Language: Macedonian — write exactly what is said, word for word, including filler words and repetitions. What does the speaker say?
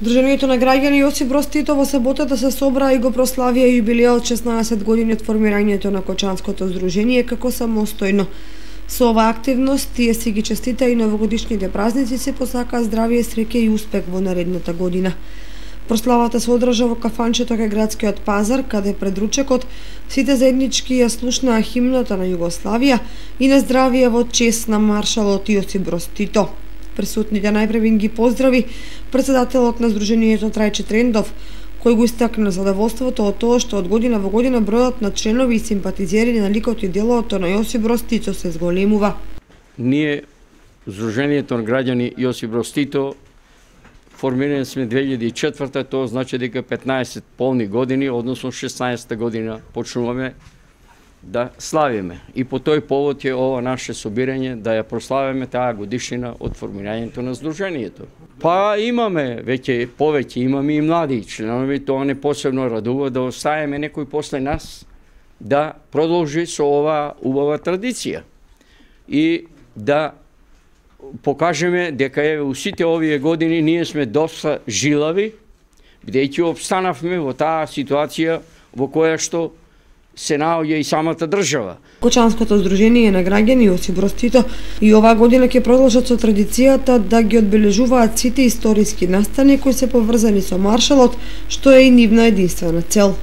Друженијето на граѓани Јосип Броз Тито во саботата се собра и го прославија јубилеот шеснаесет години од формирањето на Кочанското здружение како самостојно. Со оваа активност тие си ги честита и новогодишните празници, се посака здравје, среќа и успех во наредната година. Прославата се одржа во кафанчето кај градскиот пазар, каде пред ручекот сите заеднички ја слушнаа химната на Југославија и на здравје во чест на маршалот Јосип Броз Тито. Присутните најпрвин ги поздрави председателот на Здруженијето Трајче Трендов, кој го истакна задоволството од тоа што од година во година бројот на членови и симпатизери на ликот и делото на Јосип Броз Тито се зголемува. Ние, Здруженијето на граѓани Јосип Броз Тито, формирани сме две илјади и четврта, тоа значи дека петнаесет полни години, односно шеснаесетта година почнуваме да славиме. И по тој повод е ова наше собирање да ја прославиме таа годишнина од формирањето на Здруженијето. Па имаме веќе повеќе, имаме и млади членови, тоа не посебно радува да оставиме некој после нас да продолжи со оваа убава традиција и да покажеме дека е у сите овие години ние сме доста жилави, бидејќи обстанавме во таа ситуација во која што се наоѓа и самата држава. Кочанското здружение на граѓани Јосип Броз Тито и оваа година ќе продолжат со традицијата да ги одбележуваат сите историски настани кои се поврзани со маршалот, што е и нивна единствена цел.